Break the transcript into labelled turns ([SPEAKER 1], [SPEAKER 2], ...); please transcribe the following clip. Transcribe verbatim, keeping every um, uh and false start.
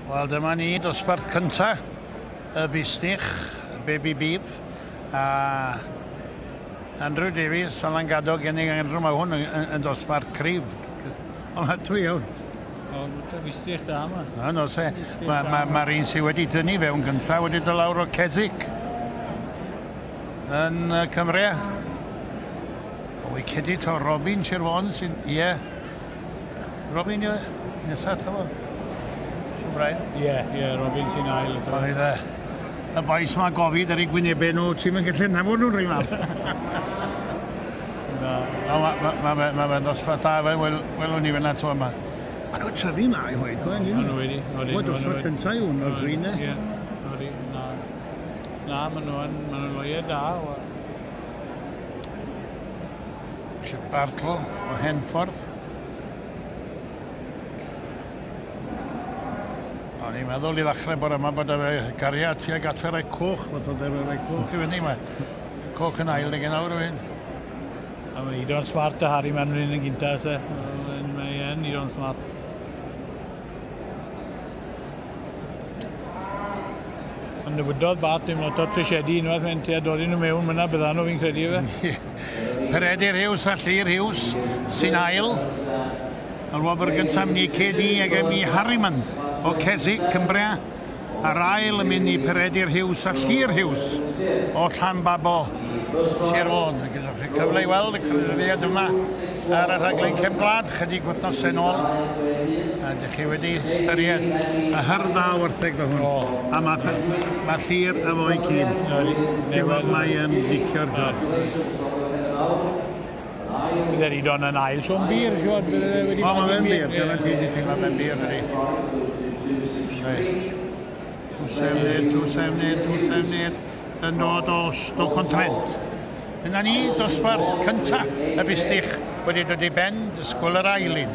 [SPEAKER 1] Wel, dyma ni, dosbarth cynta y bistych, Baby Beef, a Andrew Davies, o Langadog, gennych Andrew, mae hwn yn, yn, yn dosbarth cryf. Ond mae dwi iawn.
[SPEAKER 2] O, bistych da yma.
[SPEAKER 1] No, no, se. Mae'r ma, ma, ma un sydd wedi dynnu fewn gyntaf wedi dod lawr o Keswick yn uh, Cymru. O, wicedi to Robin Sir Fôn sy'n... Ie. Robin, ie. Nesaf, to fo. Brian?
[SPEAKER 2] Ie, ie, Robin sy'n ail.
[SPEAKER 1] Oedd y, y bois ma gofid ar eu gwynebau nhw, ti'n mynd gallu nabod nhw'n rhywun fath.
[SPEAKER 2] Na.
[SPEAKER 1] Mae ma, ma, ma, ma fe'n ddosbarth da, fe, wel, welwn ni fyna to yma. Maen nhw'n tyfu ma i hwyd, gwen.
[SPEAKER 2] Maen nhw wedi.
[SPEAKER 1] Mae dosbarth cyntaf yw hwn o'r drin, e.
[SPEAKER 2] Ie, odi, na. Na, maen nhw'n ma nhw loiau da.
[SPEAKER 1] Richard Bartle o Henffordd. O'n i'n meddwl i ddechrau bore yma bod y gariad tuag at y rai coch, fath o dde'r rai coch i fyny. Mae coch yn ail neu awr o hyn.
[SPEAKER 2] A mae Idon Smart a Harry Mann yn gyntaf, se. Mae e'n Idon Smart. Ond newidodd Bart dim lot o'r tresiedi unwaith mae'n tua dod nhw mewn myna, byddan nhw fi'n credu fe.
[SPEAKER 1] Peredur Hughes a Llyr Hughes sy'n ail. Yr wobr gyntaf ni C D ag M I Harriman o Keswick, Cymbria, a'r ail yn mynd i Peredur Hughes a Llyr Hughes o Llanbabo, Sir Fôn. Gyda chi cyfle i weld y cyrraeddiad yma ar y rhaglen Cefn Gwlad chydig wythnosau nôl. A ydych chi wedi ystyried y hyrdda wartheg fel hwn. A mae, mae Llyr efo'i cyn. Ti'n gweld mae yn licio'r job.
[SPEAKER 2] Bydd yr Idon yn ail Siôn Bir, siwr.
[SPEAKER 1] O, mae fe'n bir, dyna ti di teimlo fe'n bir, ydy. two seven eight, two seven eight, two seven eight, yn dod o Stoke-on-Trent. Dyna ni, dosbarth cynta y bistych wedi dod i ben, dysgwyl yr ail un.